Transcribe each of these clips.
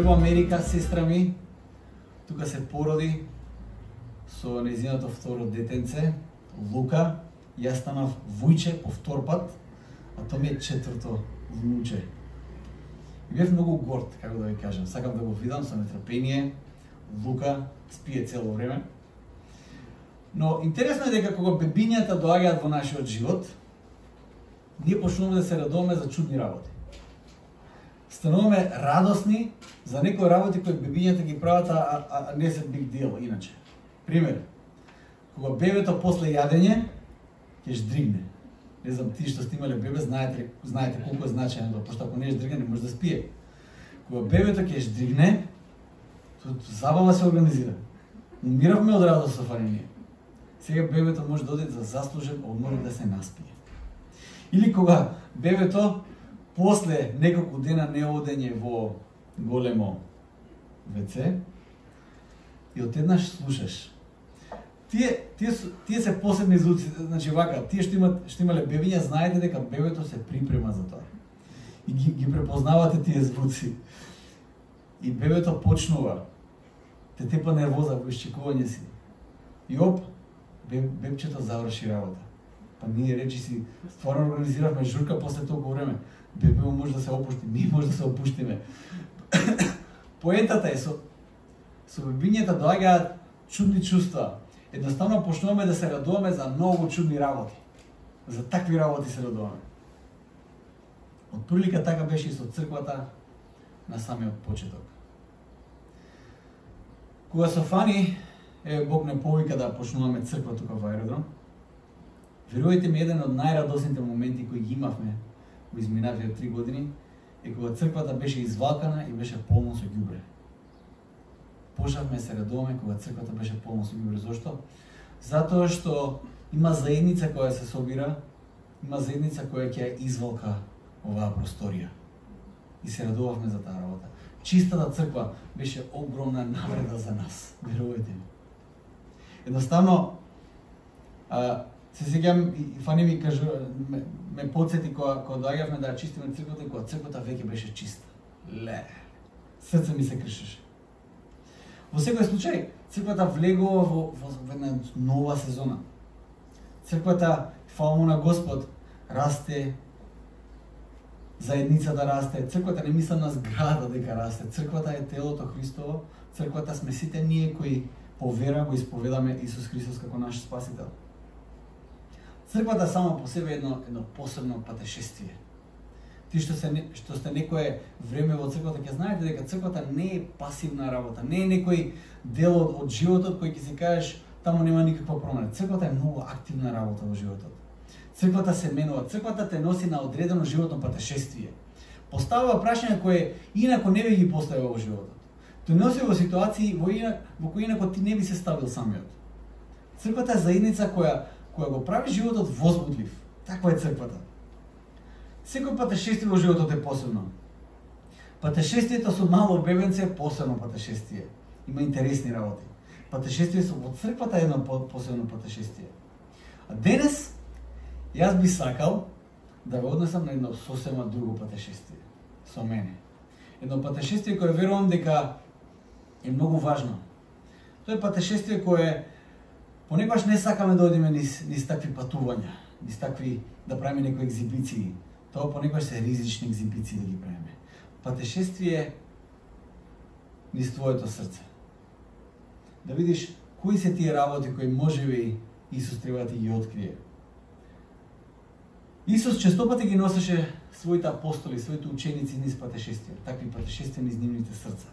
Прво Америка, сестра ми, тука се породи со нејзиното второ детенце, Лука. Јас станав вујче по втор пат, а тоа ми е четврто внуче. И бев многу горд, како да ви кажам. Сакам да го видам со нетрпение. Лука спие цело време. Но интересно е дека кога бебињата доаѓаат во нашиот живот, ние почнуваме да се радуваме за чудни работи. Стануваме радосни за некои работи кои бебињата ги прават, а не се big deal иначе. Пример, кога бебето после јадење ќе ждригне. Не знам, ти што сте имале бебе, знаете колку е значајно тоа, пошто ако не ждригне, не може да спие. Кога бебето ќе ждригне, забава се организира. Умиравме од радост со фаниње. Сега бебето може да оди за заслужен одмор да се наспие. Или кога бебето после неколку дена неодење во големо ВЦ и одеднаш слушаш. Тие се посебни звуци, значи вака, тие што имале бебиња, знаете дека бебето се припрема за тоа. И ги препознавате тие звуци. И бебето почнува, те тепа нервоза во исчекување си. И оп, бебчето заврши работа. Па ние речиси стварно организиравме журка после толку време. Бебе може да се опушти, ние може да се опуштиме. Поентата е со бебињата доаѓаат чудни чувства. Едноставно почнуваме да се радуваме за многу чудни работи. За такви работи се радуваме. Од прилика така беше и со црквата на самиот почеток. Кога со Фани, Бог не повика да почнуваме црква тука во Аеродром, верувајте ми, еден од најрадосните моменти кои ги имавме во изминативите 3 години е кога црквата беше извалкана и беше полно со ѓубре. Почнавме се радуваме кога црквата беше полно со ѓубре. Зошто? Затоа што има заедница која се собира, има заедница која ќе извалка оваа просторија. И се радувавме за таа работа. Чистата црква беше огромна навреда за нас, верувајте ми. Едноставно, се сеќавам и Фани ми кажа, ме подсети кога доаѓавме да чистиме црквата и кога црквата веќе беше чиста. Срце ми се кршеше. Во секој случај, црквата влегува во една нова сезона. Црквата, фала му на Господ, расте, заедница да расте. Црквата не мислам на зграда дека расте. Црквата е телото Христово. Црквата сме сите ние кои по вера го исповедаме Исус Христос како наш спасител. Црквата само по себе е едно посебно патешествие. Ти што сте некое време во црквата, ќе знаете дека црквата не е пасивна работа, не е некој дел од животот кој ќе си кажеш таму нема никаква промена. Црквата е многу активна работа во животот. Црквата се менува, црквата те носи на одредено животно патешествие. Поставува прашања кое инако не би ги поставил во животот. Те носи во ситуации во кои инако ти не би се ставил самиот. Црквата е заедница која го прави животот возбудлив. Таква е црквата. Секој патешествие во животот е посебно. Патешествието со мало бебенце е посебно патешествие. Има интересни работи. Патешествието во црквата е едно посебно патешествие. А денес јас би сакал да ве однесам на едно сосема друго патешествие со мене. Едно патешествие кое верувам дека е многу важно. Тоа е патешествие кое понекогаш не сакаме да одиме низ такви патувања, низ такви да правиме некои екзибиции. Тоа понекогаш се ризични екзибиции да ги правиме. Патешествие низ твоето срце. Да видиш кои се тие работи кои можеби Исус треба да ги открие. Исус честопати ги носеше своите апостоли, своите ученици низ патешествија, такви патешествија низ нивните срца.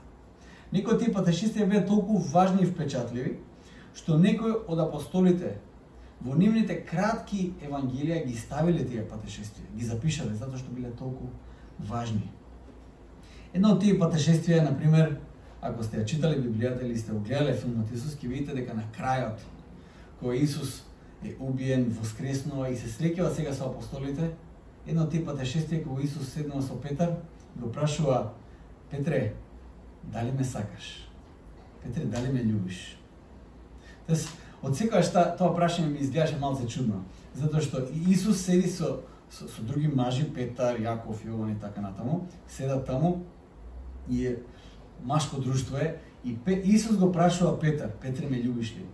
Некои од тие патешествија беа толку важни и впечатливи, што некои од апостолите во нивните кратки евангелија ги ставиле тие патешествија, ги запишале затоа што биле толку важни. Едно од тие патешествија е, например, ако сте ја читали Библијата или сте огледале филмот Исус, ќе видите дека на крајот, кога Исус е убиен, воскреснува и се среќава сега со апостолите, едно од тие патешествија кога Исус седнува со Петар, го прашува: Петре, дали ме сакаш? Петре, дали ме љубиш? Тоест, од секогаш тоа прашање ми изгледаше малце чудно, затоа што Исус седи со други мажи, Петар, Јаков, Јован и така натаму, седат таму и машко друштво е и Исус го прашува Петар, Петре ме љубиш ли?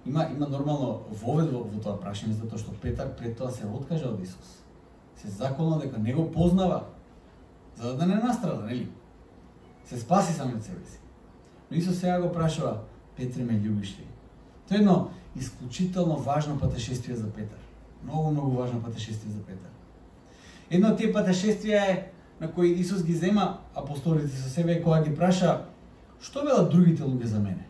Има нормално вовед во тоа прашање, затоа што Петар пред тоа се откажа од Исус. Се заколна дека не го познава, за да не настрада, нели? Се спаси сам од себе си. Но Исус сега го прашува, Петре ме љубиш ли? Тоа е едно исклучително важно патешествие за Петар. Многу важно патешествие за Петар. Едно од тие патешествија е на кои Исус ги зема апостолите со себе кога ги праша што велат другите луѓе за мене.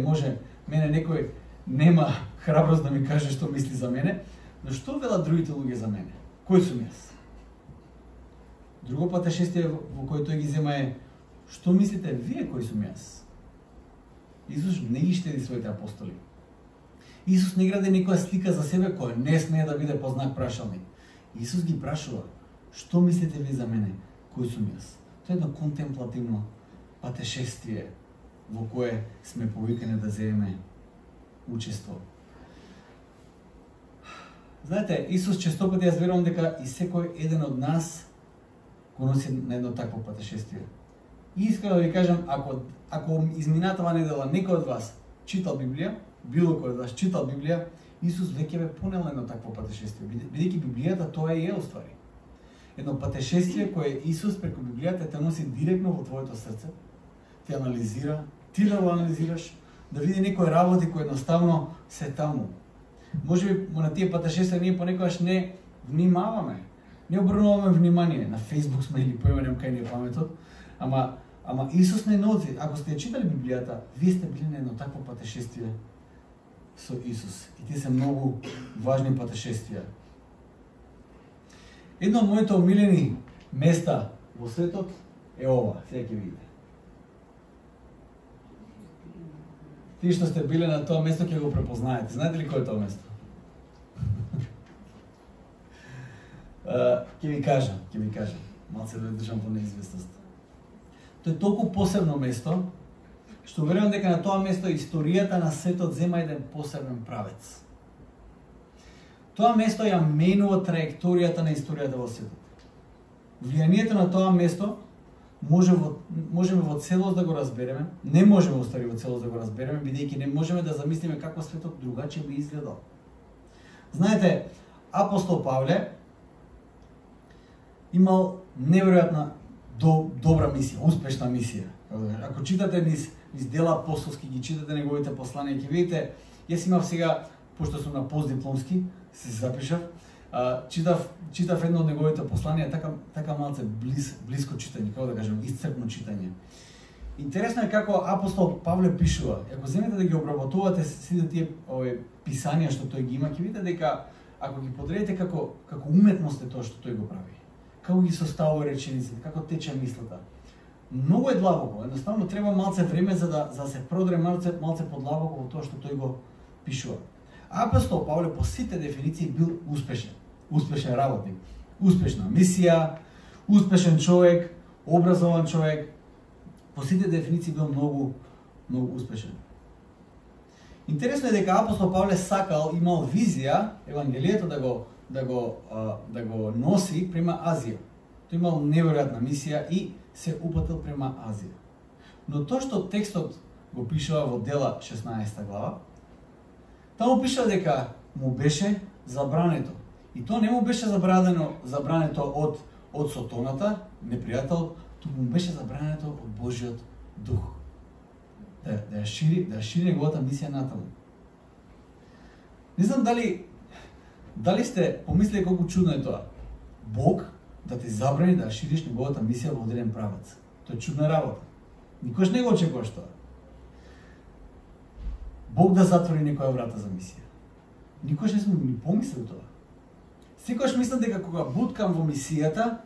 Може мене некој нема храброст да ми каже што мисли за мене, но што велат другите луѓе за мене? Кој сум јас? Друго патешествие во кој тој ги зема е што мислите вие кој сум јас? Исус не ги штеди своите апостоли. Исус не гради некоја слика за себе која не смее да биде по знак прашалник. Исус ги прашува, што мислите ви за мене, кој сум јас? Тоа е едно контемплативно патешествие во кое сме повикани да земеме учество. Знаете, Исус често пати јас верувам дека и секој еден од нас го носи на едно такво патешествие. И искрено да ви кажам, ако изминатава недела некој од вас читал Библија, било кој од вас читал Библија, Исус веќе бе понел едно такво патешествие. Бидејќи Библијата тоа е уствари. Едно патешествие кое Исус преку Библијата те носи директно во твоето срце, те анализира, ти да го анализираш, да види некои работи кои едноставно се таму. Може би на тие патешествија ние понекогаш не внимаваме, не обрнуваме внимание. На Facebook сме или поименем кај ни е паметот, ама Исус не носи. Ако сте читали Библијата, вие сте били на едно такво патешествие со Исус. И тие се многу важни патешествија. Едно од моите омилени места во светот е ова, сега ќе видите. Тие што сте биле на тоа место ќе го препознаете. Знаете ли кој е тоа место? Ќе ви кажам. Малце да држам во неизвестност. Тоа е толку посебно место, што верувам дека на тоа место историјата на светот зема еден посебен правец. Тоа место ја менува траекторијата на историјата во светот. Влијанието на тоа место можеме во целост да го разбереме, не можеме устари во целост да го разбереме, бидејќи не можеме да замислиме како светот другаче би изгледал. Знаете, апостол Павле имал неверојатна добра мисија, успешна мисија. Ако читате низ дела апостолски, ги читате неговите посланија, ќе видите, јас имав сега, пошто сум на постдипломски, се запишав, читав едно од неговите посланија, така малце близко читање, како да кажем, исцрпно читање. Интересно е како апостол Павле пишува. Ако земете да ги обработувате сите тие писања што тој ги има, ќе видите дека ако ги подредите како уметност е тоа што тој го прави. Како ги составува речениците, како тече мислата. Многу е длабоко, едноставно треба малце време за да се продре малце подлабоко во тоа што тој го пишува. Апостол Павле по сите дефиниции бил успешен работник, успешна мисија, успешен човек, образован човек. По сите дефиниции бил многу успешен. Интересно е дека апостол Павле сакал, имал визија евангелието да го носи према Азија. Тој имал неверојатна мисија и се упатил према Азија. Но тоа што текстот го пишува во Дела 16 глава, таму пишува дека му беше забрането. И тоа не му беше забрането од сотоната, непријател, туку му беше забрането од Божиот дух. Да ја шири неговата мисија натаму. Не знам дали сте помислили колку чудно е тоа. Бог да ти забрани да шириш неговата мисија во одреден правец. Тоа е чудна работа. Никош не го очекуваш тоа. Бог да затвори некоја врата за мисија. Никош не сме ни помислили тоа. Секогаш мислам дека кога буткам во мисијата,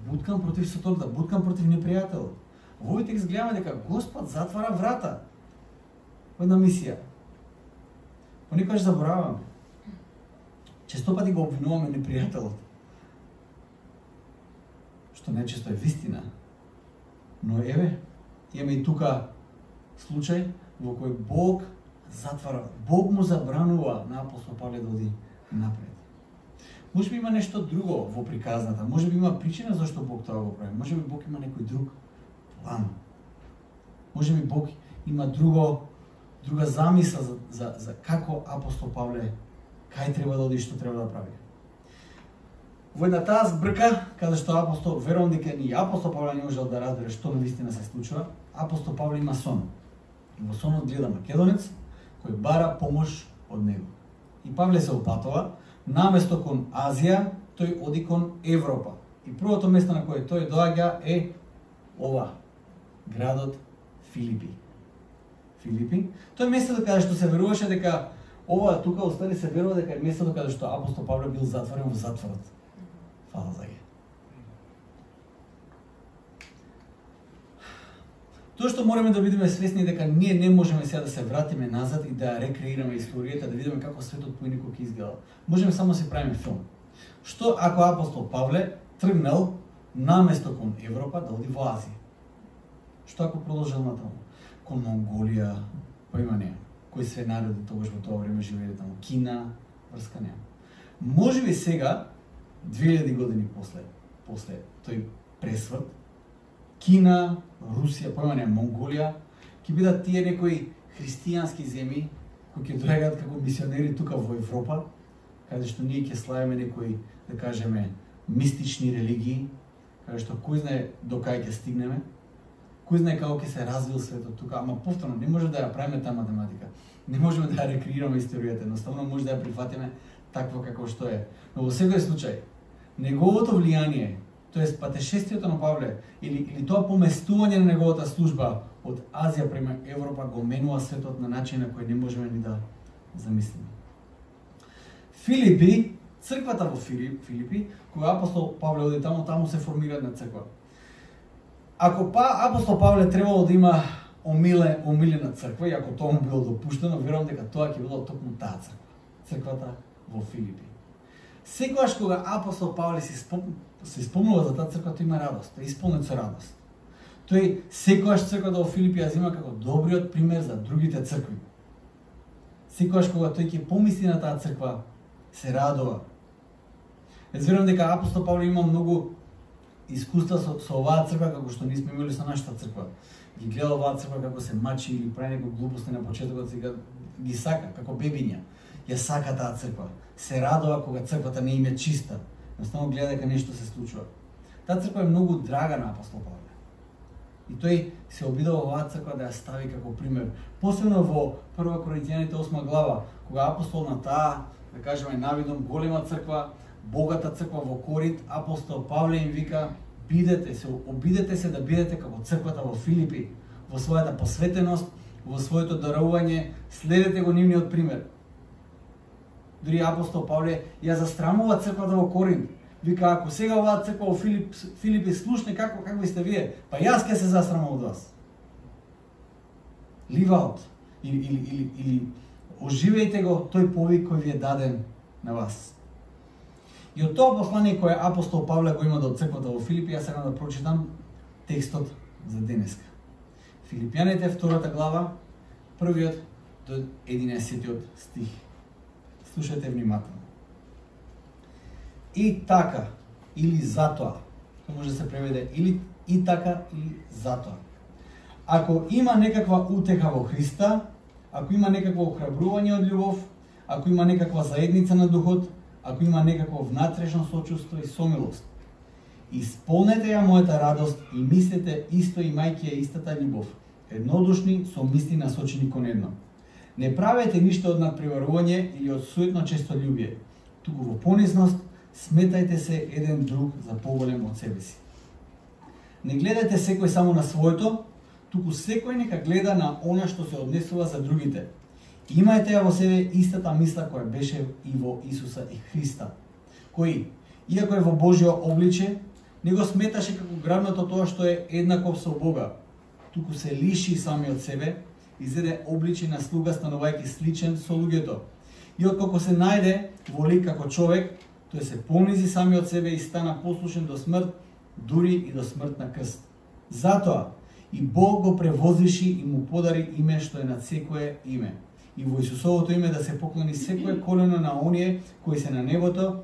буткам против сотоната, буткам против непријателот. Во овој текст гледаме дека Господ затвара врата во една мисија. Понекогаш забораваме. Често пати го обвинуваме непријателот. Што нечесто е вистина. Но еве, имаме и тука случај во кој Бог затвара, Бог му забранува на апостол Павле да оди напред. Може би има нешто друго во приказната, може би има причина зашто Бог тоа го прави, може би Бог има некој друг план. Може би Бог има друга замисла за како апостол Павле кај треба да оди и што треба да прави. Во една таа збрка, каде што апостол, верувам дека ни апостол Павле не можел да разбере што навистина се случува, апостол Павле има сон. И во сонот гледа македонец кој бара помош од него. И Павле се опатува, наместо кон Азија, тој оди кон Европа. И првото место на кое тој доаѓа е ова, градот Филипи. Филипи. Тоа е местото каде што се веруваше дека ова тука остали се верува дека е местото каде што апостол Павле бил затворен во затворот. Фала за ге. Тоа што мораме да бидеме свесни дека ние не можеме сега да се вратиме назад и да рекреираме историјата, да видиме како светот поинаку ќе изгледа. Можеме само да се правиме филм. Што ако апостол Павле тргнал наместо кон Европа да оди во Азија? Што ако продолжил натаму? Кон Монголија, па има неа. Кои се народи тогаш во тоа време живееле таму? Кина, врска неа. Може би сега, 2000 години после тој пресврт, Кина, Русија, па има неа, Монголија, ќе бидат тие некои христијански земји кои ќе доаѓаат како мисионери тука во Европа, каде што ние ќе славиме некои, да кажеме, мистични религии, каде што кој знае до кај ќе стигнеме, кој знае како ќе се развил светот тука, ама повторно не може да ја правиме таа математика. Не можеме да ја рекреираме историјата, едноставно може да ја прифатиме такво како што е. Но во секој случај, неговото влијание, тоест патешествието на Павле или тоа поместување на неговата служба од Азија према Европа го менува светот на начин на кој не можеме ни да замислиме. Филипи, црквата во Филипи, кога апостол Павле оди таму се формира една црква. Ако апостол Павле требало да има омилена црква, и ако тоа му било допуштено, верувам дека тоа ќе било токму таа црква, црквата во Филипи. Секогаш кога апостол Павле се спомнува за таа црква, тој има радост, тој е исполнет со радост. Тој секогаш црквата во Филипи ја зема како добриот пример за другите цркви. Секогаш кога тој ќе помисли на таа црква, се радува. Верувам дека апостол Павле има многу искуства со оваа црква како што ние сме имали со нашата црква. Ги гледа оваа црква како се мачи или прави некои глупости на почетокот, сега ги сака како бебиња. Ја сака таа црква. Се радува кога црквата не им е чиста. Едноставно гледа дека нешто се случува. Таа црква е многу драга на апостол Павле. И тој се обидува оваа црква да ја стави како пример. Посебно во 1 Коринтијаните 8 глава, кога апостол на таа, да кажеме, навидом голема црква, богата црква во Коринт, апостол Павле им вика: обидете се да бидете како црквата во Филипи, во својата посветеност, во своето дарување, следете го нивниот пример. Дури апостол Павле ја застрамува црквата во Коринт. Вика: ако сега оваа црква во Филипи слушне какви сте вие, па јас ќе се застрамам од вас. Live out. Или оживејте го тој повик кој ви е даден на вас. И од тоа послание кое апостол Павле го има до црквата во Филипи, јас сакам да прочитам текстот за денеска. Филипјаните 2 глава, 1 до 11 стих. Слушајте внимателно. И така, или затоа, може да се преведе или и така, или затоа. Ако има некаква утеха во Христа, ако има некакво охрабрување од љубов, ако има некаква заедница на духот, ако има некакво внатрешно сочувство и сомилост, исполнете ја мојата радост и мислете исто, имајќи ја истата љубов, еднодушни со мисли насочени кон едно. Не правете ништо од надпреварување или од суетно честолюбие, туку во понизност сметајте се еден друг за поголем од себе си. Не гледате секој само на своето, туку секој нека гледа на она што се однесува за другите. Имајте ја во себе истата мисла која беше и во Исуса и Христа, кој, иако е во Божјо обличе, не го сметаше како грабното тоа што е еднаков со Бога, туку се лиши сами од себе, изеде обличе на слуга, станувајќи сличен со луѓето. И откако се најде во лик како човек, тој се понизи сами од себе и стана послушен до смрт, дури и до смрт на крст. Затоа и Бог го превозвиши и му подари име што е над секое име. И во Исусовото име да се поклони секое колено на оние кои се на небото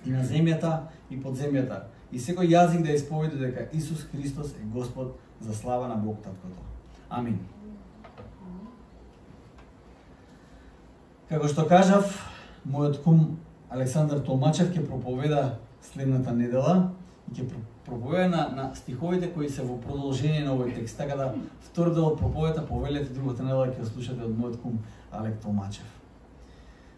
и на земјата и под земјата. И секој јазик да исповеда дека Исус Христос е Господ за слава на Бог Таткото. Амин. Како што кажав, мојот кум Александар Толмачев ќе проповеда следната недела и ќе проповеда на стиховите кои се во продолжение на овој текст. Така да втор дел од проповедата повелете другата недела ќе слушате од мојот кум Алек Толмачев.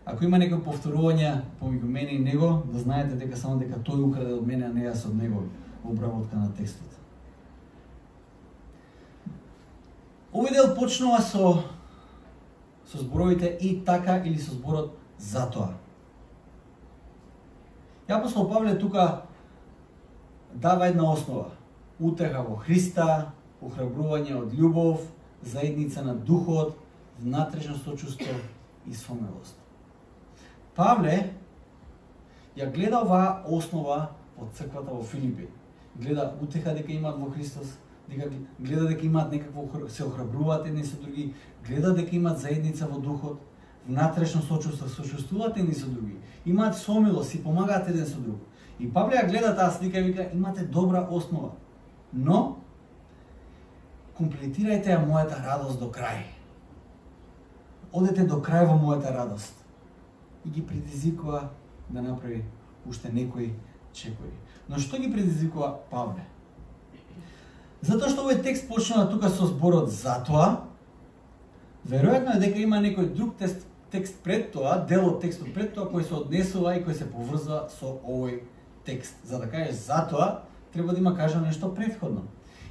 Ако има некои повторувања помеѓу мене и него, да знаете дека само дека тој украде од мене, а не јас од него во обработка на текстот. Овој дел почнува со зборовите и така или со зборот затоа. И апостол Павле тука дава една основа. Утеха во Христа, охрабрување од љубов, заедница на духот, внатрешно сочувство и сомилост. Павле ја гледа оваа основа од црквата во Филипи. Гледа утеха дека имаат во Христос, гледа дека имаат некакво, се охрабруваат едни со други, гледа дека имаат заедница во духот, внатрешно сочувство, сочувствуваат едни со други, имаат сомилост, си помагаат еден со друг. И Павле ја гледа таа слика и вика, имате добра основа, но комплетирајте ја мојата радост до крај. Одете до крај во мојата радост. И ги предизвикува да направи уште некои чекори. Но што ги предизвикува Павле? Затоа што овој текст почнува тука со зборот затоа, веројатно е дека има некој друг текст пред тоа, дел од текстот пред тоа кој се однесува и кој се поврзува со овој текст. За да кажеш затоа, треба да има кажано нешто претходно.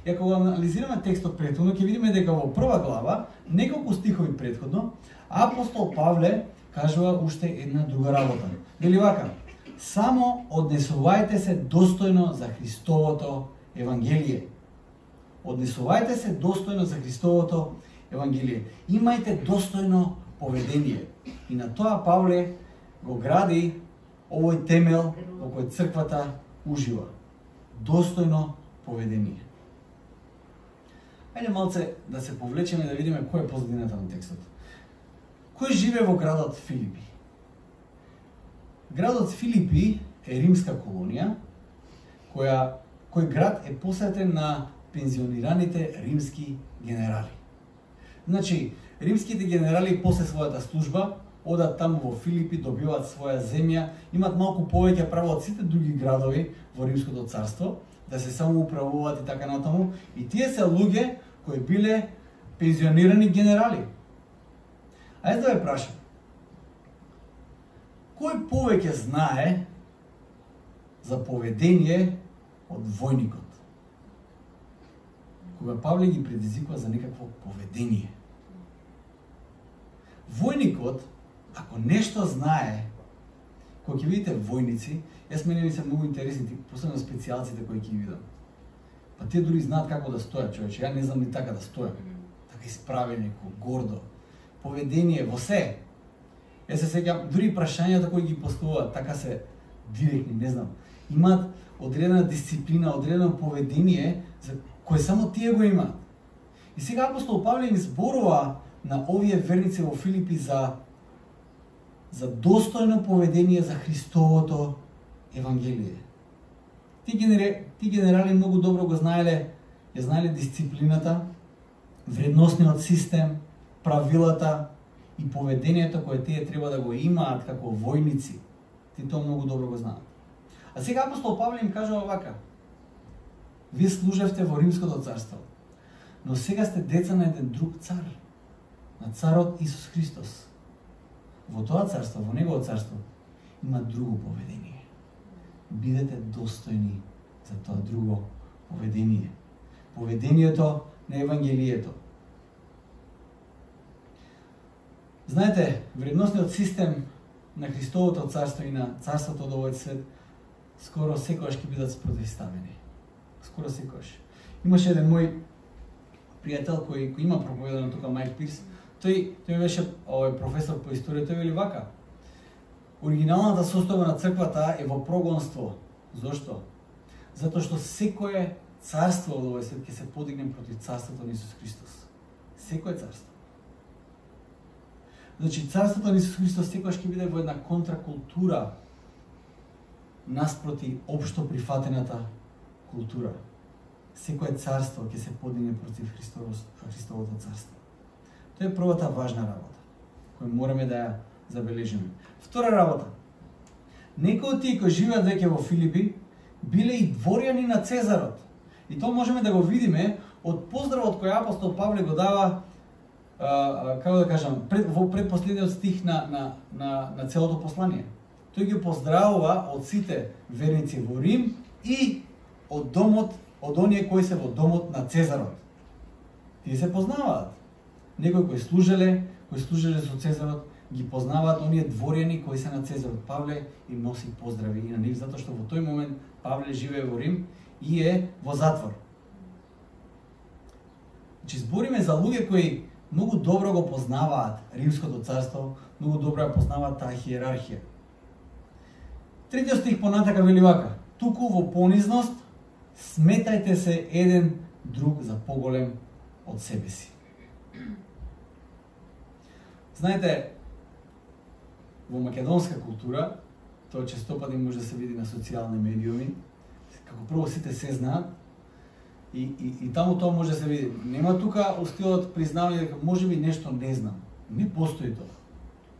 И ако го анализираме текстот претходно, ќе видиме дека во прва глава, неколку стихови претходно, апостол Павле кажува уште една друга работа. Вели вака: само однесувајте се достојно за Христовото евангелие. Однесувајте се достојно за Христовото евангелие. Имајте достојно поведение. И на тоа Павле го гради овој темел во кој црквата ужива. Достојно поведение. Ајде малце да се повлечеме да видиме кој е позадината на текстот. Кој живее во градот Филипи? Градот Филипи е римска колонија, кој град е посветен на пензионираните римски генерали. Значи, римските генерали после својата служба одат таму во Филипи, добиваат своја земја, имаат малку повеќе право од сите други градови во Римското царство, да се самоуправуваат и така натаму. И тие се луѓе кои биле пензионирани генерали. Ајде да ве прашам, кој повеќе знае за поведение од војникот? Кога Павле ги предизвикува за некакво поведение. Војникот, ако нешто знае, кога ќе видите војници, јас мене ми се многу интересни, посебно специјалците кои ќе видам. Па тие дури знаат како да стојат, човече, ја не знам ни така да стојам. Така исправени, гордо. Поведение во се. Јас се сеќам, дури прашањата кои ги поставуваат, така се директни, не знам. Имаат одредена дисциплина, одредено поведение за кој само тие го имаат. И сега апостол Павле им зборува на овие верници во Филипи за достојно поведение за Христовото евангелие. Ти генерали многу добро го знаеле, ја знаеле дисциплината, вредносниот систем, правилата и поведението кое тие треба да го имаат како војници. Ти тоа многу добро го знаат. А сега апостол Павле им кажува вака: вие служевте во Римското царство, но сега сте деца на еден друг цар, на царот Исус Христос. Во тоа царство, во негово царство, има друго поведение. Бидете достојни за тоа друго поведение. Поведението на Евангелието. Знаете, вредносниот систем на Христовото царство и на царството од овој свет скоро секогаш ќе бидат спротивставени. Скоро секогаш. Имаше еден мој пријател кој има проповедано тука, Майк Пирс. Тој беше професор по историја, тој вели вака: оригиналната состојба на црквата е во прогонство. Зошто? Затоа што секое царство од овој свет ќе се подигне против царството на Исус Христос. Секое царство. Значи, царството на Исус Христос секогаш ќе биде во една контракултура наспроти општо прифатената култура. секое царство ќе се подигне против Христовото царство. Тоа е првата важна работа, која мораме да ја забележиме. Втора работа. Некои од тие кои живеат веќе во Филипи биле и дворјани на Цезарот. И тоа можеме да го видиме од поздравот кој апостол Павле го дава, како да кажам, во предпоследниот стих на целото послание. Тој ги поздравува од сите верници во Рим и од домот, од оние кои се во домот на Цезарот. Тие се познаваат. Некои кои служеле со Цезарот, ги познаваат оние дворјани кои се на Цезарот. Павле им носи поздрави и на нив, затоа што во тој момент Павле живее во Рим и е во затвор. Значи, збориме за луѓе кои многу добро го познаваат Римското царство, многу добро ја познаваат таа хиерархија. Третиот стих понатака вели вака: туку во понизност сметајте се еден друг за поголем од себе си. Знаете, во македонска култура, тоа честопати може да се види на социјални медиуми, како прво сите се знаат, и таму тоа може да се види. Нема тука устилот признавање дека можеби нешто не знам. Не постои тоа.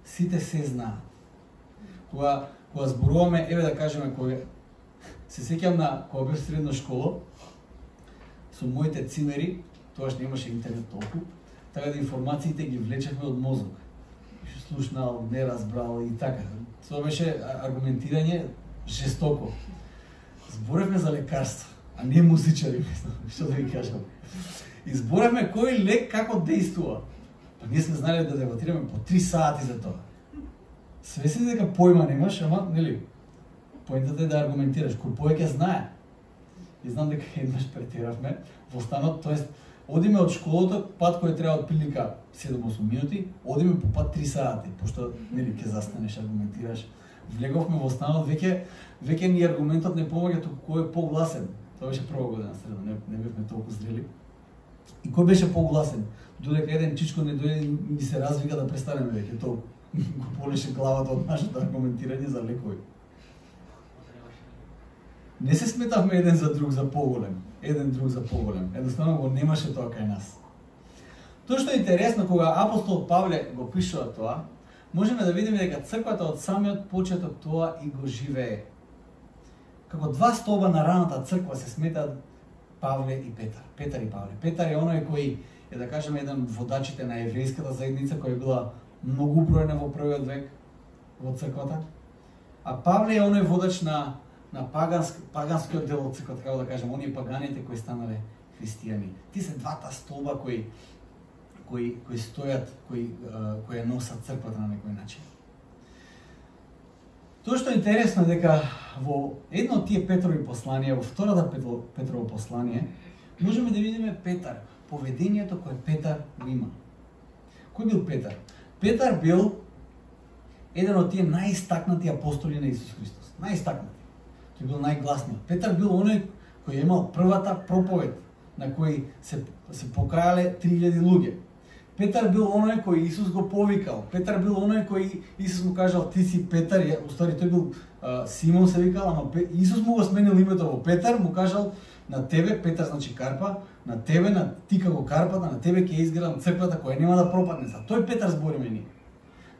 Сите се знаат. Кога зборуваме, еве да кажеме, кога се сеќам на кога бев средна школа, со моите цимери, тогаш немаше интернет толку, така да информациите ги влечевме од мозок. Слушнал, не разбрал и така. Тоа беше аргументирање жестоко. Зборевме за лекарство, а не музичари, што да ви кажам. И зборевме кој лек како дејствува. Па ние сме знали да дебатираме по 3 сати за тоа. Свесни дека појма немаш, ама, нели, поентата е да аргументираш, кој повеќе знае. И знам дека еднаш претеравме во станот, тоест, одиме од школата, пат кој треба од прилика 7-8 минути, одиме по пат 3 сати, пошто, нели, ќе застанеш, аргументираш. Влеговме во станот, веќе ни аргументот не помаѓа, туку кој е погласен. Тоа беше прва година среда, не бевме толку зрели. И кој беше погласен? Додека еден чичко не дојде и ми се развика да престанеме веќе, тоа го полеше главата од нашето аргументирање за лекови. Не се сметавме еден за друг за поголем, Едноставно го немаше тоа кај нас. Тоа што е интересно, кога апостол Павле го пишува тоа, можеме да видиме дека црквата од самиот почеток тоа и го живее. Како два столба на раната црква се сметаат Павле и Петар. Петар и Павле. Петар е оној кој е, да кажеме, еден од водачите на еврејската заедница, која била многу бројна во првиот век во црквата. А Павле е оној водач на паганскиот дел од црквата, како да кажем, оние паганите кои станале христијани. Ти се двата столба кои стојат, кои ја носат црквата на некој начин. Тоа што е интересно дека во едно од тие Петрови посланија, во втората Петрово послание, можеме да видиме Петар, поведението кое Петар го има. Кој бил Петар? Петар бил еден од тие најистакнати апостоли на Исус Христос. Најистакнати. Тој бил најгласниот. Петар бил оној кој имал првата проповед на кој се покајале 3000 луѓе. Петар бил оној кој Исус го повикал. Петар бил оној кој Исус му кажал ти си Петар, уствари тој бил Симон се викал, ама Исус му го сменил името во Петар, му кажал на тебе, Петар значи карпа, на тебе, на ти како карпата, на тебе ќе изградам црквата која нема да пропадне. За тој Петар збориме ние.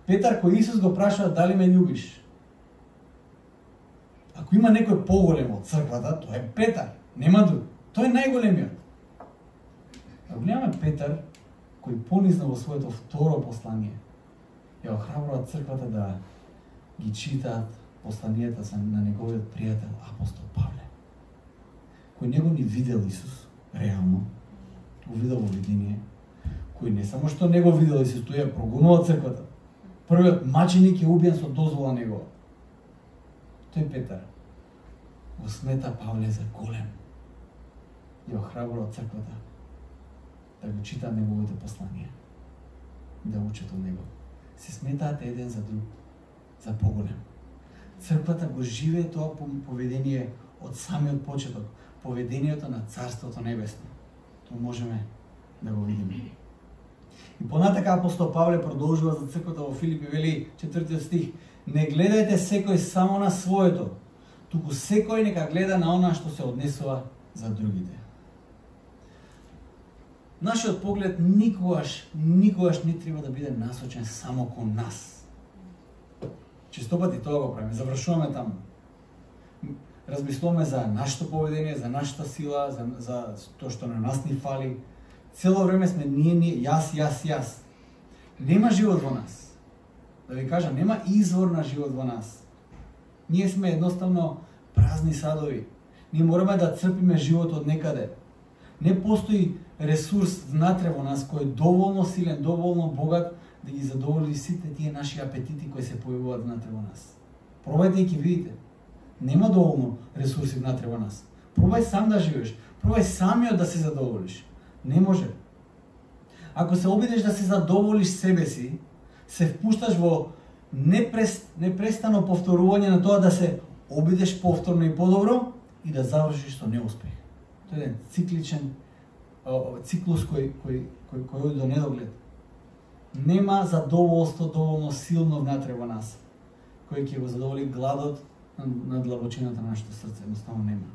Петар кој Исус го прашува дали ме љубиш. Ако има некој поголем од црквата, тоа е Петар, нема друг. Тој е најголемиот. А гледаме Петар кој понизна во своето второ послание, ја охрабрува црквата да ги читаат посланијата на неговиот пријател апостол Павле, кој него ни видел Исус реално, го видел во видение, кој не само што не го видел Исус, тој ја прогонува црквата. Првиот маченик е убиен со дозвола негова. Тој Петар го смета Павле за голем. Ја охрабрува црквата да го читаат неговите посланија, да учат од него. Се сметаат еден за друг, за поголем. Црквата го живее тоа поведение од самиот почеток, поведението на Царството Небесно. Тоа можеме да го видиме. И понатака апостол Павле продолжува за црквата во Филипи, вели 4 стих: не гледајте секој само на своето, туку секој нека гледа на она што се однесува за другите. Нашиот поглед никогаш не треба да биде насочен само кон нас. Честопати тоа го правиме, завршуваме таму. Размислуваме за нашето поведение, за нашата сила, за тоа што на нас ни фали. Цело време сме ние, јас. Нема живот во нас. Да ви кажам, нема извор на живот во нас. Ние сме едноставно празни садови. Ние мораме да црпиме живот од некаде. Не постои ресурс внатре во нас кој е доволно силен, доволно богат да ги задоволи сите тие наши апетити кои се појавуваат внатре во нас. Пробајте и ќе видите. Нема доволно ресурси внатре во нас. Пробај сам да живееш. Пробај самиот да се задоволиш. Не може. Ако се обидеш да се задоволиш себе си, се впушташ во непрестано повторување на тоа да се обидеш повторно и подобро и да завршиш со неуспех. Тоа е еден циклус кој оди до недоглед. Нема задоволство доволно силно внатре во нас, кој ќе го задоволи гладот на длабочината на нашето срце. Едноставно нема.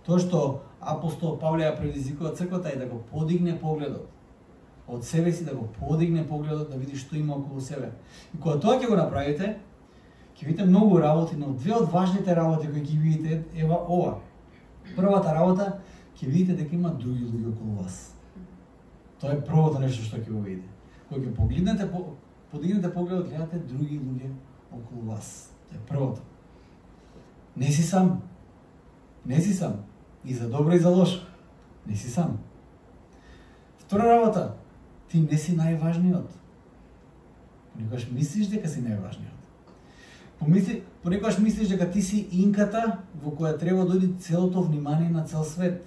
Тоа што апостол Павле ја предизвикува црквата е да го подигне погледот од себе си, да го подигне погледот, да види што има околу себе. И кога тоа ќе го направите, ќе видите многу работи, но две од важните работи кои ќе видите е ова. Првата работа, ќе видите дека има други луѓе околу вас. Тоа е првото нешто што ќе го видите. Кога ќе погледнете, подигнете погледот, гледате други луѓе околу вас. Тоа е првото. Не си сам. Не си сам. И за добро и за лошо. Не си сам. Втора работа, ти не си најважниот. Понекогаш мислиш дека си најважниот. Понекогаш мислиш дека ти си инката во која треба да оди целото внимание на цел свет.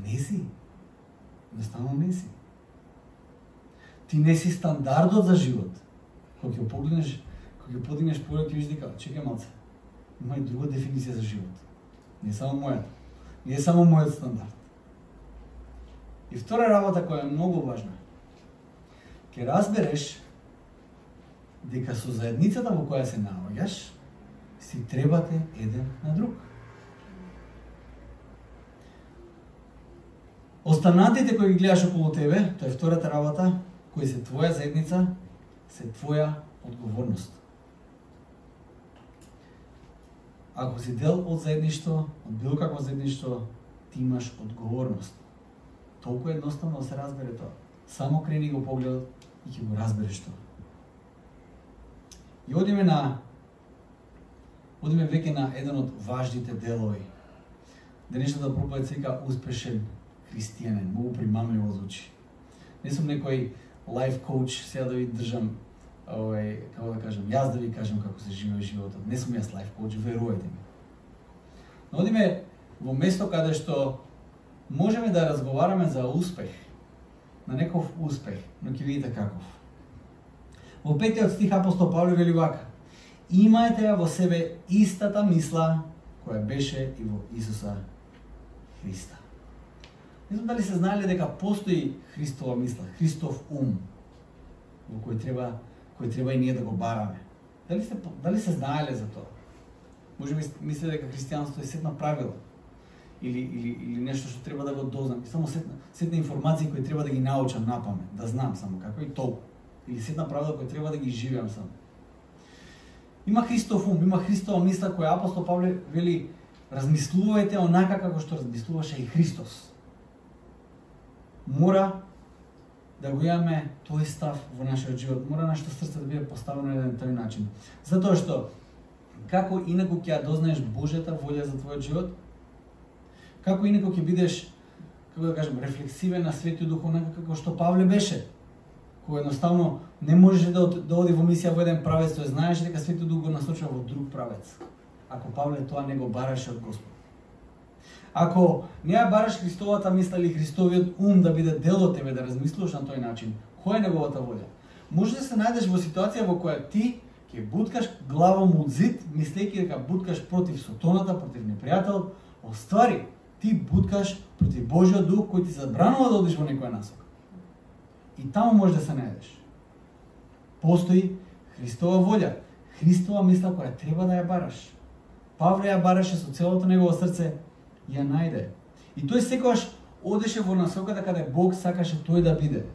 Не си. Едноставно не си. Ти не си стандардот за живот. Кога ќе погледнеш, кога ќе подигнеш поглед, ќе видиш дека чекај малце. Има и друга дефиниција за живот. Не само мојата. Не е само мојот стандард. И втора работа која е многу важна. Ќе разбереш дека со заедницата во која се наоѓаш, си требате еден на друг. Останатите кои ги гледаш околу тебе, тоа е втората работа, кои се твоја заедница, се твоја одговорност. Ако си дел од заедништво, од било какво заедништво, ти имаш одговорност. Толку едноставно да се разбере тоа. Само крени го погледот и ќе го разбереш тоа. И одиме веќе на еден од важните делови. Денешната проповед се вика успешен христијанин, многу примамливо звучи. Не сум некој лайф коуч, сега да ви држам, како да кажам, јас да ви кажам како се живее животот. Не сум јас лайф коуч, верувајте ми. Но одиме во место каде што можеме да разговараме за успех, на неков успех, но ќе видите каков. Во 5 стих апостол Павле вели вака: имаете ја во себе истата мисла која беше и во Исуса Христа. Не знам дали се знаеле дека постои Христова мисла, Христов ум, во кој треба и ние да го бараме. Дали се знаеле за тоа? Може би мисле дека христијанство е сетна правила или нешто што треба да го дознам, само сетна информации кои треба да ги научам напамет, да знам само како и толку, или сетна правила кои треба да ги живеам само. Има Христов ум, има Христова мисла која апостол Павле вели: размислувајте онака како што размислуваше и Христос. Мора да го имаме тој став во нашиот живот, мора нашето срце да биде поставено на еден тој начин. Затоа што како инаку ќе ја дознаеш Божјата волја за твојот живот, како инаку ќе бидеш, како да кажем, рефлексивен на Светиот Дух, онака како што Павле беше, кој едноставно не можеше да оди во мисија во еден правец, тој знаеше дека Светиот Дух го насочува во друг правец. Ако Павле тоа не го бараше од Господ. Ако не ја бараш Христовата мисла или Христовиот ум да биде дел од тебе, да размислуваш на тој начин, која е неговата волја? Може да се најдеш во ситуација во која ти ќе буткаш главом од зид, мислејќи дека буткаш против сотоната, против непријателот, оствари ти буткаш против Божјиот Дух кој ти забранува да одиш во некоја насока. И таму може да се најдеш. Постои Христова волја, Христова мисла која треба да ја бараш. Павле ја бараше со целото негово срце, ја најде. И тој секогаш одеше во насоката каде Бог сакаше тој да биде.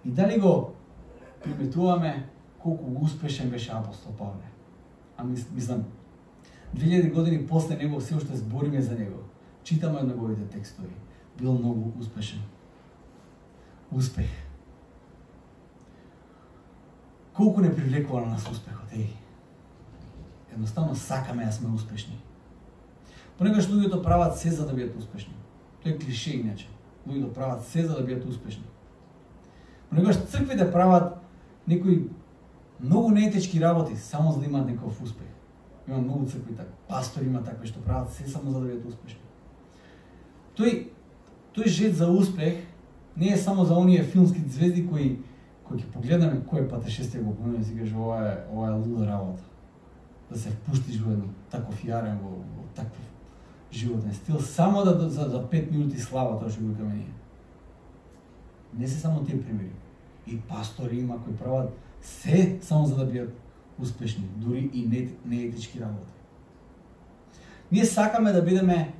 И дали го приметуваме колку успешен беше апостол Павле? А мислам, 2000 години после него се уште збориме за него. Читаме од неговите текстови. Бил многу успешен. Успех. Колку не привлекува на нас успехот, Едноставно сакаме да сме успешни. Понекогаш луѓето прават се за да бидат успешни. Тоа е клише иначе. Луѓето прават се за да бидат успешни. Понекогаш црквите прават некои многу неетички работи само за да имаат некој успех. Има многу цркви така. Пастори има такви што прават се само за да бидат успешни. Тој жет за успех не е само за оние филмски звезди кои ќе погледаме кој патешествие го помине и си кажеш ова е луда работа. Да се впуштиш во едно таков јарен, во таков животен стил, само за 5 минути слава, тоа што го викаме ние. Не се само тие примери. И пастори има кои прават се само за да бидат успешни, дури и неетички работи. Ние сакаме да бидеме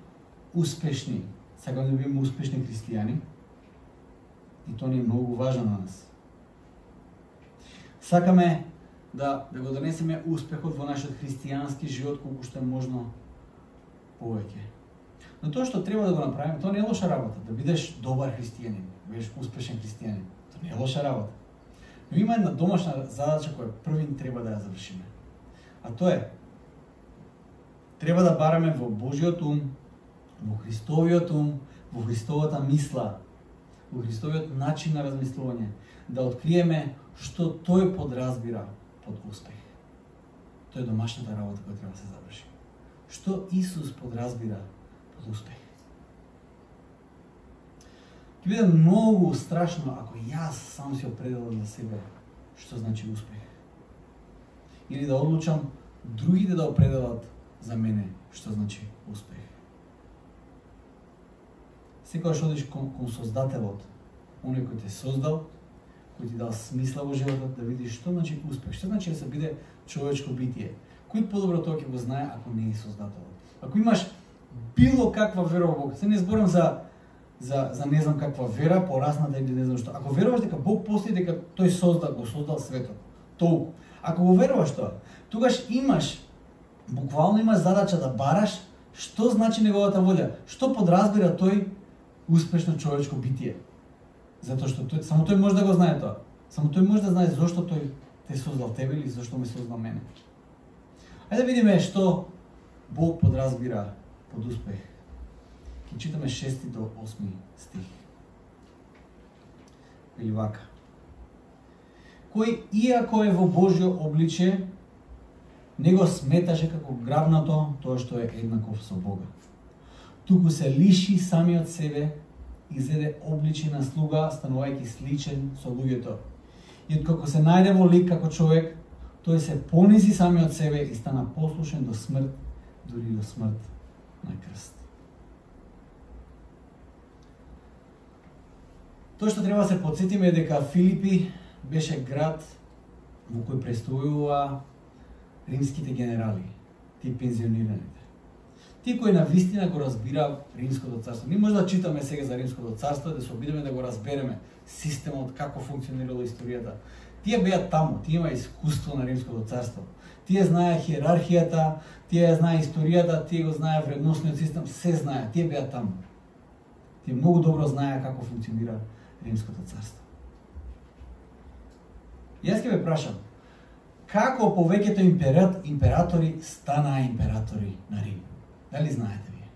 успешни, сакаме да бидеме успешни христијани, и тоа ни е многу важно на нас. Сакаме да го донесеме успехот во нашиот христијански живот колку што е можно повеќе. Но тоа што треба да го направиме, тоа не е лоша работа, да бидеш добар христијанин, да бидеш успешен христијанин. Тоа не е лоша работа. Но има една домашна задача која првин треба да ја завршиме. А тоа е, треба да бараме во Божиот ум, во Христовиот ум, во Христовата мисла, во Христовиот начин на размислување, да откриеме што тој подразбира под успех. Тоа е домашната работа која треба да се заврши. Што Исус подразбира под успех? Ќе биде многу страшно ако јас сам си определам за себе што значи успех. Или да одлучам другите да определат за мене што значи успех. Секогаш одиш кон Создателот, оној кој те создал, кој ти дал смисла во животот, да видиш што значи успех, што значи да се биде човечко битие. Кој подобро тоа ќе го знае ако не е Создателот. Ако имаш било каква вера во Бог, се не зборам за не знам каква вера, порасната или не знам што. Ако веруваш дека Бог постои, дека тој го создал светот, толку. Ако го веруваш тоа, тогаш буквално имаш задача да бараш што значи неговата волја, што подразбира тој успешно човечко битие. Затоа што само тој може да го знае тоа. Само тој може да знае зошто тој те создал тебе или зошто ме создал мене. Ајде да видиме што Бог подразбира под успех. Ќе читаме 6 до 8 стих. Или вака. Кој иако е во Божјо обличје, не го сметаше како грабнато тоа што е еднаков со Бога. Туку се лиши самиот себе и зеде обличје на слуга, станувајќи сличен со луѓето. И откако се најде во лик како човек, тој се понизи самиот себе и стана послушен до смрт, дури до смрт на крст. Тоа што треба да се потсетиме е дека Филипи беше град во кој престојува римските генерали, тие пензионираните. Тие кои на вистина го разбира Римското царство. Ние може да читаме сега за Римското царство, да се обидеме да го разбереме системот, како функционирала историјата. Тие беа таму, тие има искуство на Римското царство. Тие знае хиерархијата, тие знае историјата, тие го знае вредносниот систем, се знае, тие беа таму. Тие многу добро знае како функционира Римското царство. Јас ќе ве прашам, како повеќето императори станаа императори на Рим? Дали знаете вие?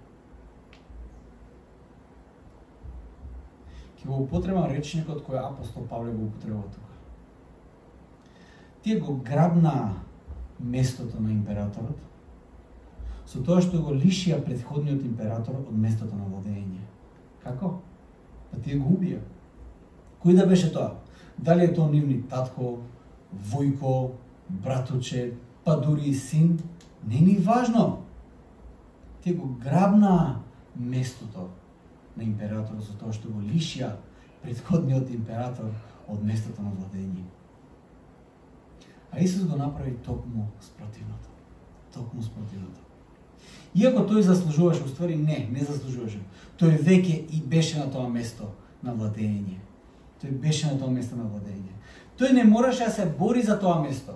Ќе го употребам речникот кој апостол Павле го употребува тука. Тие го грабнаа местото на императорот со тоа што го лишија претходниот император од местото на владење. Како? Па тие го убија. Кој да беше тоа? Дали е тоа нивни татко, војко, братуче, па дури и син? Не ни важно. Тие го грабнаа местото на императорот со тоа што го лишија претходниот император од местото на владење. А Исус го направи токму спротивното. Токму спротивното. Иако тој заслужуваше, уствари не заслужуваше. Тој веќе и беше на тоа место на владење. Тој беше на тоа место на владење. Тој не мораше да се бори за тоа место.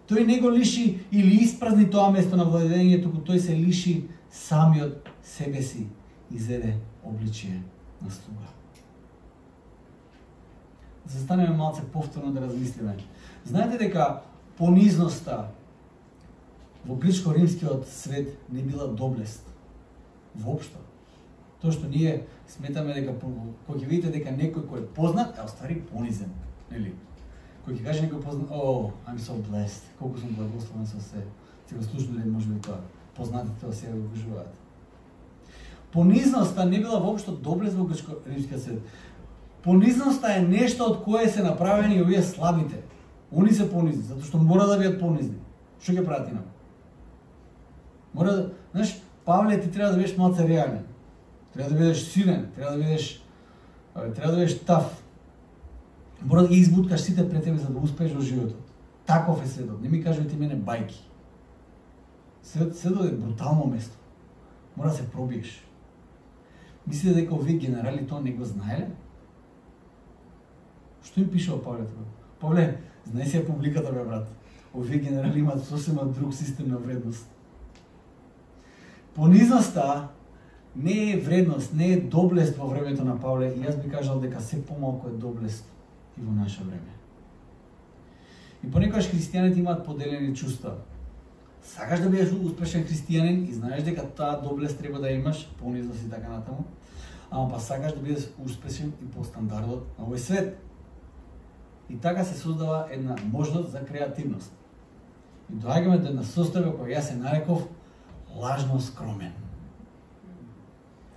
Тој не го лиши или испразни тоа место на владење, туку тој се лиши самиот себе си и зеде обличие на слуга. Застанеме малце повторно да размислиме. Знаете дека понизноста во грчко-римскиот свет не била доблест. Воопшто. Тоа што ние сметаме дека кога ќе видите дека некој кој е познат, е оствари понизен, нели? Кој ќе каже некој познат, I'm so blessed, колку сум благословен со се. Ти го слушнале може би тоа. Познатите тоа сега го кажуваат. Понизноста не била воопшто доблест во грчко-римскиот свет. Понизноста е нешто од кое се направени овие слабите. Они се понизни, затоа што мора да бидат понизни. Што ќе прават инаку? Мора да, знаеш, Павле, ти треба да бидеш малце реален. Треба да бидеш силен, треба да бидеш таф. Мора да ги избуткаш сите пред тебе за да успееш во животот. Таков е светот. Не ми кажете мене бајки. Светот е брутално место. Мора да се пробиеш. Мислите дека овие генерали тоа не го знаеле? Што им пишува Павле тоа? Павле, знај си ја публиката, бе, брат. Овие генерали имаат сосема друг систем на вредност. Понизноста не е вредност, не е доблест во времето на Павле и јас би кажал дека се помалку е доблест и во наше време. И понекогаш христијаните имаат поделени чувства. Сакаш да бидеш успешен христијанин и знаеш дека таа доблест треба да имаш, понизност и така натаму, ама па сакаш да бидеш успешен и по стандардот на овој свет. И така се создава една можност за креативност. И доаѓаме до една состојба која јас се нареков лажно скромен.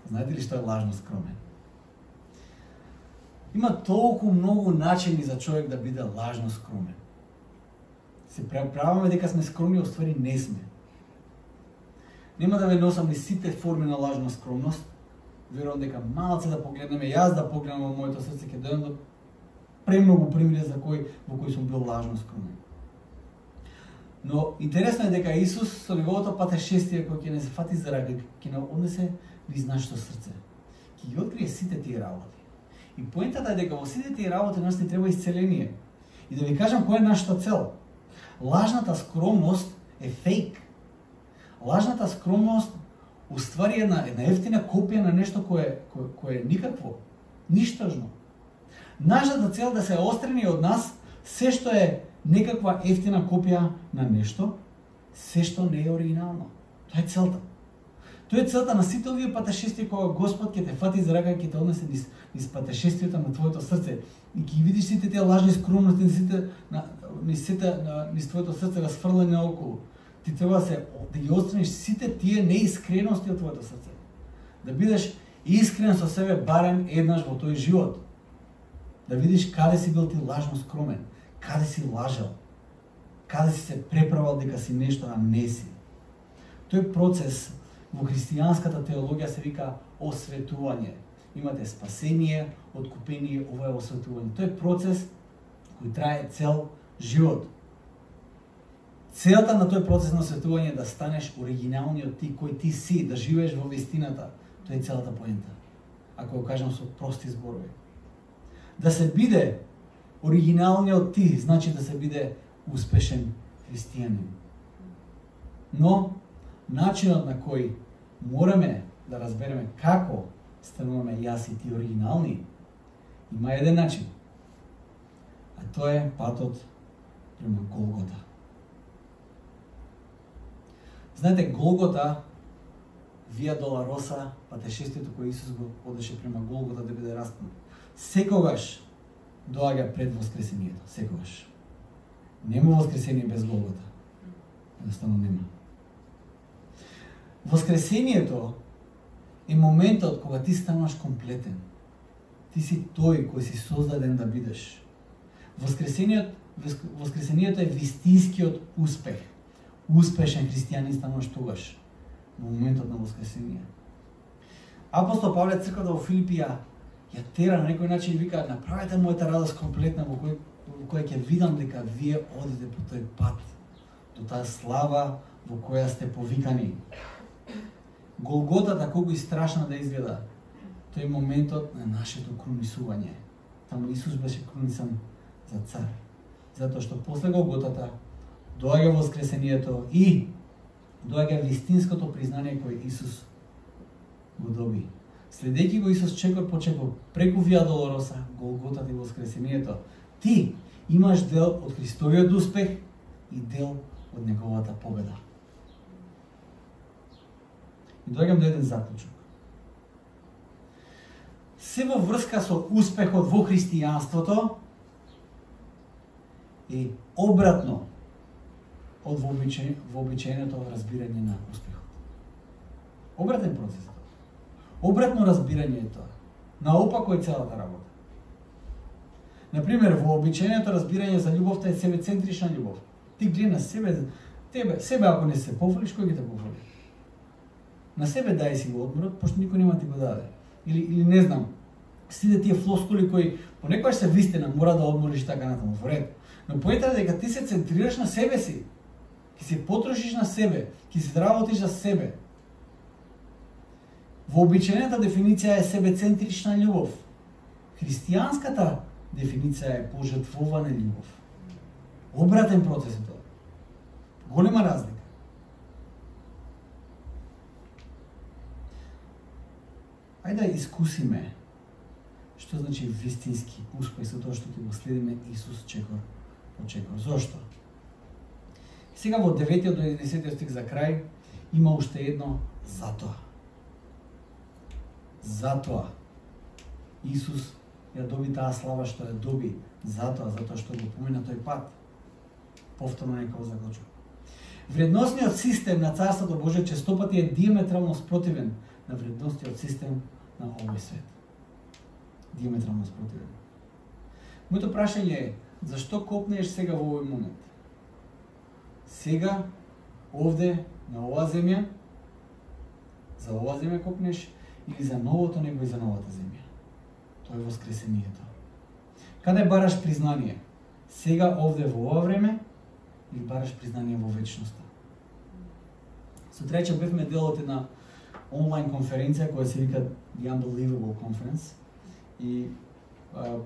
Знаете ли што е лажно скромен? Има толку многу начини за човек да биде лажно скромен. Се правиме дека сме скромни, оствари не сме. Нема да ве носам ни сите форми на лажна скромност. Верувам дека малце да погледнеме, јас да погледнам во моето срце, ќе дојдам до премногу примери во кои сум бил лажно скромен. Но интересно е дека Исус со неговото патешествие кој ќе не се фати за рака, ќе не однесе низ нашето срце. Ќе ги открие сите тие работи. И поентата е дека во сите тие работи нас ни треба исцеление. И да ви кажам која е нашата цел. Лажната скромност е фейк. Лажната скромност уствари една ефтина копија на нешто кое е никакво, ништажно. Нашата цел да се острани од нас се што е некаква ефтина копија на нешто, се што не е оригинално. Тоа е целта. Тоа е целта на сите овие патешествија кога Господ ќе те фати за рака и ќе те однесе низ патешествието на твоето срце и ќе видиш сите тие лажни скромности низ твоето срце расфрлени наоколу. Ти треба да ги отстраниш сите тие неискрености од твоето срце. Да бидеш искрен со себе барем еднаш во тој живот. Да видиш каде си бил ти лажно скромен, каде си лажал, каде си се преправал дека си нешто, а не си. Тој процес во христијанската теологија се вика осветување. Имате спасение, откупение, ова е осветување. Тој е процес кој трае цел живот. Целта на тој процес на осветување е да станеш оригиналниот ти кој ти си, да живееш во вистината. Тоа е целата поента. Ако го кажам со прости зборови. Да се биде оригиналниот ти, значи да се биде успешен христијанин. Но начинот на кој мораме да разбереме како стануваме јас и ти оригинални, има еден начин. А тоа е патот према Голгота. Знаете, Голгота, Вија Долороса, патешествието кој Исус го одеше према Голгота да биде распнат, секогаш доаѓа пред воскресението. Секогаш. Нема воскресение без Голгота. Едноставно нема. Воскресението е моментот кога ти стануваш комплетен. Ти си тој кој си создаден да бидеш. Воскресението е вистинскиот успех. Успешен христијанин стануваш тогаш, во моментот на воскресение. Апостол Павле црквата во Филипи ја тера на некој начин и вика: направете мојата радост комплетна во која ќе видам дека вие одите по тој пат, до таа слава, во која сте повикани. Голготата колку и страшна да изгледа, тој моментот на нашето крунисување. Таму Исус беше крунисан за цар. Затоа што после Голготата доаѓа воскресението и доаѓа вистинското признание кој Исус го доби. Следејќи го Исус чекор по чекор преку Вија Долороса, Голготата и воскресението, ти имаш дел од Христовиот успех и дел од неговата победа. И доаѓам до еден заклучок. Се во врска со успехот во христијанството е обратно од вообичаеното разбирање на успехот. Обратен процес. Обратно разбирање е тоа. Наопако е целата работа. Например, вообичаеното разбирање за љубовта е себецентрична љубов. Ти гледа на себе ако не се пофолиш, кој ги те пофоли? На себе дај си го одморот, пошто никој нема ти го даде. Или не знам, сите тие флоскули кои понекогаш се вистина, мора да одмориш и така натаму, во ред. Но поентата е дека ти се центрираш на себе си, ќе се потрошиш на себе, ќе се работиш за себе. Вообичаената дефиниција е себецентрична љубов. Христијанската дефиниција е пожртвувана љубов. Обратен процес е тоа. Голема разлика. Ајде да искусиме што значи вистински успех со тоа што ќе го следиме Исус чекор по чекор. Зошто? Сега во 9 до 11 стих за крај има уште едно затоа. Затоа Исус ја доби таа слава што ја доби, затоа што го помина тој пат. Повторно некако заклучок. Вредносниот систем на Царството Божие честопати е диаметрално спротивен на вредносниот систем на овој свет. Диаметрално спротивен. Моето прашање е, зашто копнеш сега во овој момент? Сега, овде, на оваа земја, за оваа земја копнеш или за новото небо и за новата земја? Тоа е воскресението. Каде бараш признание? Сега, овде, во ова време, или бараш признание во вечноста? Сутреќа бевме дел од една онлайн конференција која се вика The Unbelievable Conference и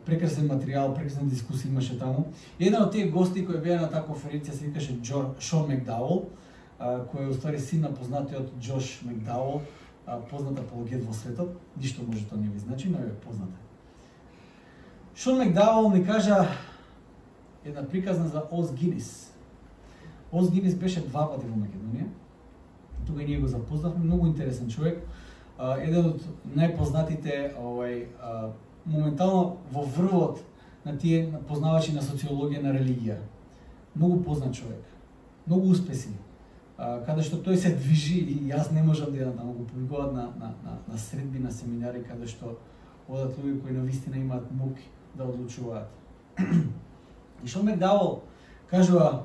прекрасен материјал, прекрасна дискусија имаше таму. Еден од тие гости кои беа на таа конференција се викаше Шон Макдауел, кој е уствари син на познатиот Джош Макдауел, познат апологет во светот. Ништо може тоа не ви значи, но е познат. Шон Макдауел ми кажа една приказна за Оз Гинис. Оз Гинис беше 2 пати во Македонија. Тука ние го запознавме, многу интересен човек. Еден од најпознатите моментално во врвот на тие познавачи на социологија на религија. Многу познат човек. Многу успеси. Каде што тој се движи и јас не можам да таму го публикуваат на средби, на семинари каде што одат луѓе кои навистина имаат мук да одлучуваат. И Шон Макдауел кажува,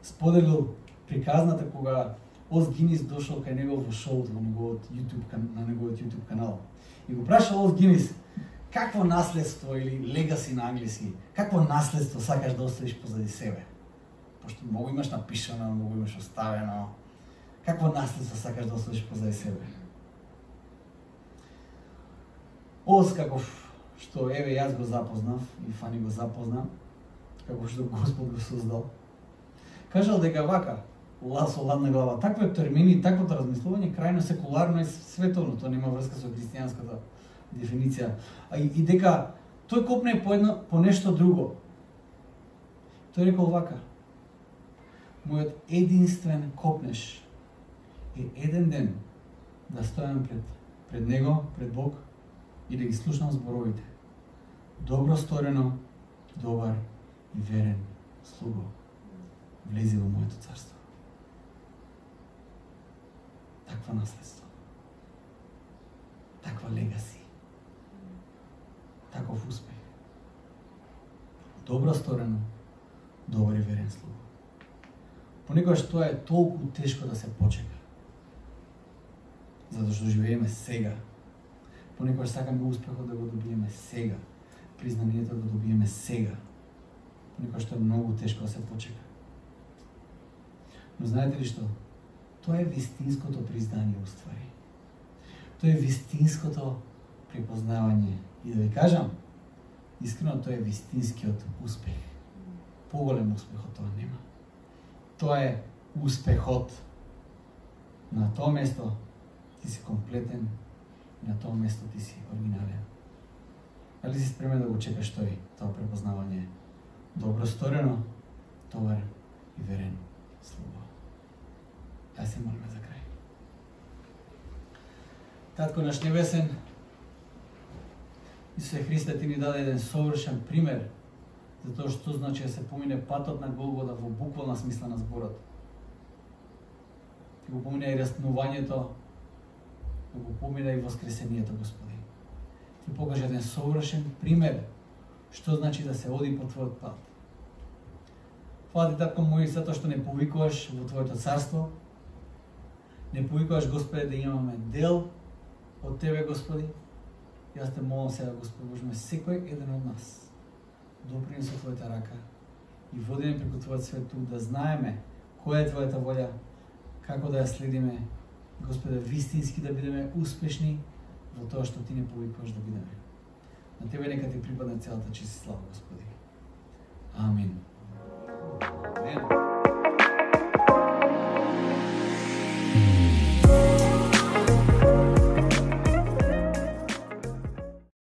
споделил приказната кога Оз Гинис дошол кај него во шоуто на неговиот YouTube канал. И го прашал Оз Гинис, какво наследство или легаси на англиски, какво наследство сакаш да оставиш позади себе? Пошто многу имаш напишано, многу имаш оставено. Какво наследство сакаш да оставиш позади себе? Оз, каков што еве јас го запознав и Фани го запозна, како што Господ го создал, кажал дека вака, со ладна глава, такви термини, таквото размислување крајно секуларно и световно, тоа нема врска со христијанската дефиниција. И дека тој копне по нешто друго. Тој рекол вака: мојот единствен копнеш е еден ден да стојам пред него, пред Бог и да ги слушнам зборовите. Добро сторено, добар и верен слуго, влези во моето царство. Таква наследство. Таква легаси. Таков успех. Добро сторено, добар и верен слуго. Понекогаш тоа е толку тешко да се почека. Затоа што живееме сега. Понекогаш сакаме успехот да го добиеме сега. Признанието да го добиеме сега. Понекогаш тоа е многу тешко да се почека. Но знаете ли што? Тоа е вистинското признание уствари. Тоа е вистинското препознавање. И да ви кажам, искрено тоа е вистинскиот успех. Поголем успех од тоа нема. Тоа е успехот. На тоа место ти си комплетен, на тоа место ти си оригинален. Дали си спремен да го чекаш тој, тоа препознавање? Добро сторено, добар и верен слуга. Јас се молиме за крај. Татко наш небесен, Исусе Христе, ти ни даде еден совршен пример за тоа што значи да се помине патот на Голгота во буквална смисла на зборот. Ти го помине и раснувањето, го помине и воскресението, Господи. Ти покажа еден совршен пример што значи да се оди по Твојот пат. Фала ти, Татко мој, затоа што не повикуваш во Твоето царство, не повикуваш, Господи, да имаме дел од Тебе, Господи. Јас те молам сега, Господи Боже, секој еден од нас доприни со Твојата рака и води не преку Твојот свет тук, да знаеме која е Твојата волја, како да ја следиме, Господи, вистински да бидеме успешни во тоа што Ти не повикуваш да бидеме. На Тебе нека Ти припадне целата чест и слава, Господи. Амин.